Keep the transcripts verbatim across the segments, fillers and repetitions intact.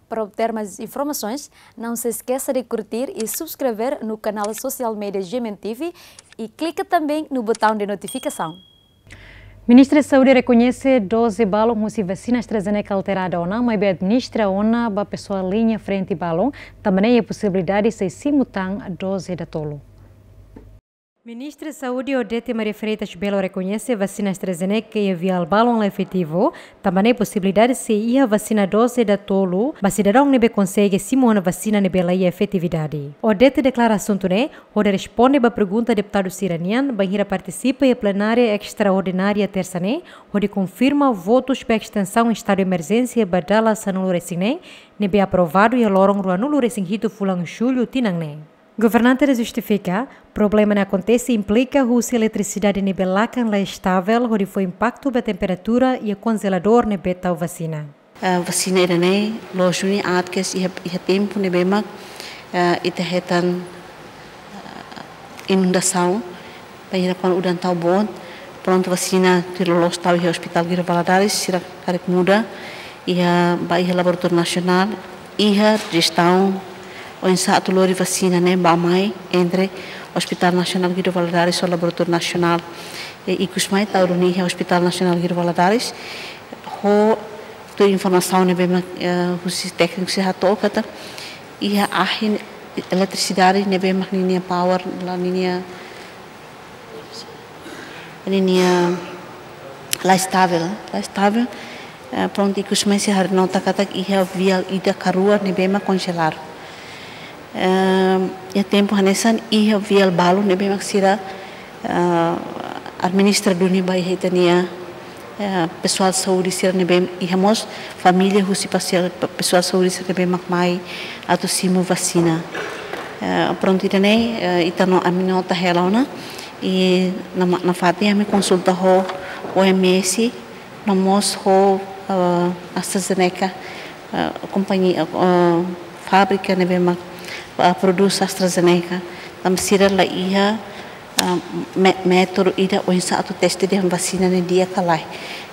Para obter mais informações, não se esqueça de curtir e subscrever no canal social media G M N T V e clica também no botão de notificação. Ministra Saúde rekoñese doze balun husi vasina AstraZeneca alterada ona, maibé administra ona ba pesoál liña frente balun, tanba ne'e iha posibilidade sei simu tan doze datolu. Ministra Saúde Odete Maria Freitas Belo rekoñese vasina AstraZeneca iha viál balun la efetivu, tanba ne'e posibilidade sei iha vasina doze datolu ba sidadaun ne'ebé konsege simu ona vasina ne'ebé la iha efetividade. Odete deklara asuntu ne'e hodi responde ba pergunta deputadu sira-nian bainhira partisipa iha plenária estraordinária tersa ne'e, hodi konfirma votus ba estensaun estadu emerjénsia ba dala sanulu-resin-neen, ne'ebé aprovadu iha loron ruanulu-resin-hitu fulan Jullu tinan ne'e. Governante justifika, problema ne'e akontese implika husi eletrisidade ne'ebé lakan la estavel, hodi fó impaktu ba temperatura iha konjeladór ne'ebé tau vasina. Eh, vasina ida-ne'e loos duni aat kedas iha, iha tempu ne'ebé mak, eh, ita hetan, eh, inundasaun, bainhira kuandu udan tau boot, prontu vasina tuir loloos tau iha Hospital Guido Valadares, sira karik muda iha, ba iha Laboratóriu Nasionál, iha jestaun oinsá atu lori vasina ne'e bá-mai entre Hospital Nasionál Guido Valadares ho Laboratóriu Nasionál. I ikus mai tau duni iha Hospital Nasionál Guido Valadares, ho tuir informasaun ne'ebé mak, eh, husi tékniku sira hato'o katak iha ahi eletrisidade ne'ebé mak ninia power la ninia, ninia la estavel, la estavel. Eh, prontu, ikus mai sira haree nota katak iha viál ida ka rua ne'ebé mak konjeladu. Eh, iha tempu hanesan iha viál balun ne'ebé mak sira, eh, administra duni ba iha ita-nia, eh, pesoál saúde sira ne'ebé iha mós família husi pasiál, pe-, pesoál saúde sira ne'ebé mak mai atu simu vasina. Eh, prontu, ida-ne'e, eh, ita no, ami nota hela ona, i na ma-, nafatin ami konsulta ho O M S, no mós ho, eh, AstraZeneca, eh, kompañia, eh, fábrika ne'ebé mak, eh, prodús AstraZeneca. Tanba sira la iha, eh, mé-, métodu ida oinsá atu teste dehan vasina ne'e di'ak ka lae.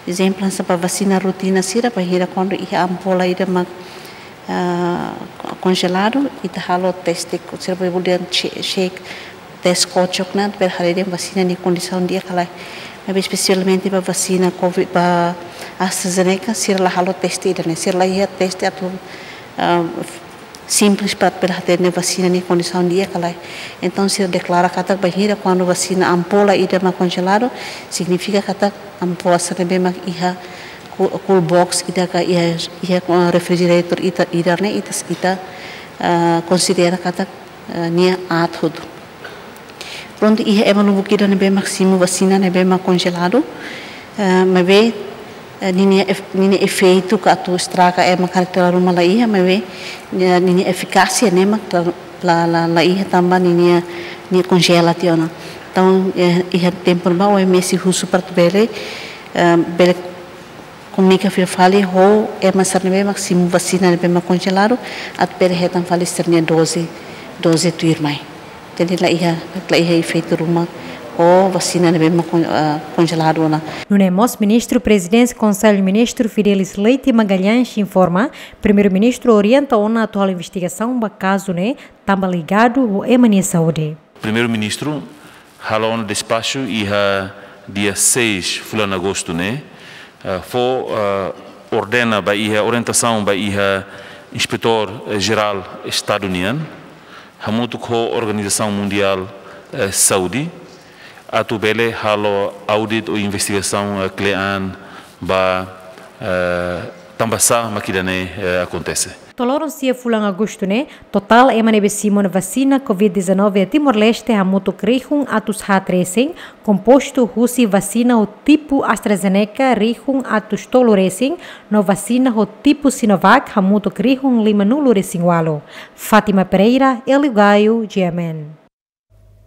Ezemplu, hanesan ba vasina rutina sira, bainhira kuandu iha ampola ida mak, eh, konjeladu, ita halo teste, sira bolu dehan che-, shake, teste kocok ona, para haree dehan vasina nia kondisaun di'ak ka lae. Maibé espesialmente ba vasina covid, ba AstraZeneca, sira la halo teste ida-ne'e, sira la iha teste atu, ah, simples para, para hatene dehan vasina nia kondisaun di'ak ka lae. Entaun, sira deklara katak bainhira kuandu vasina ampola ida mak konjeladu, signifika katak ampola sira ne'ebé mak iha coo-, cool box ida ka iha, iha, ah, refrigerator ida, ida-ne'e ita, ita, ah, konsidera katak, eh, nia aat hotu. Prontu, iha ema lubuk ida ne'ebé mak simu vasina ne'ebé mak konjeladu, eh, maibé, eh, ninia ef-, ninia efeitu ka atu estraga ema karik dala ruma la iha, maibé, eh, ninia efikásia ne'e mak la, la, la, la iha tanba ninia, nia konjela tiha ona. Entaun, eh, iha tempu ne'ebá O M S husu para atu bele, eh, bele komunika fila fali ho ema sira ne'ebé mak simu vasina ne'ebé mak konjeladu, atu bele hetan fali sira-nia doze, doze tuirmai. Jadi la iha, la iha efeitu ruma ho vasina ne'ebé mak kon-, ah, konjeladu ona. Nune'e mós Ministru Prezidénsia Konsellu Ministru Fidelis Leite Magalhães informa, Primeiru-Ministru orienta ona atu halo investigasaun ba kazu ne'e, tanba ligadu ho ema nia saúde. Primeiru-Ministru halo ona despaxu iha dia seis fulan Agostu ne'e, eh, fó, eh, ordena ba iha, orientasaun ba iha Inspetór, eh, Jerál Estadu nian, hamutuk ho Organizasaun Mundiál, eh, Saúde, atu bele halo audit ou investigasaun, eh, kle'an ba, eh, tanbasá mak ida-ne'e, eh, akontese. To'o loron sia fulan Agostu ne'e, totál ema ne'ebé simu ona vasina covid dezanove iha Timor-Leste hamutuk rihun atus haat resin, kompostu husi vasina ho tipu AstraZeneca rihun atus tolu resin, no vasina ho tipu Sinovac hamutuk rihun limanulu resin ualu. Fátima Pereira, Hélio Gaio, G M N.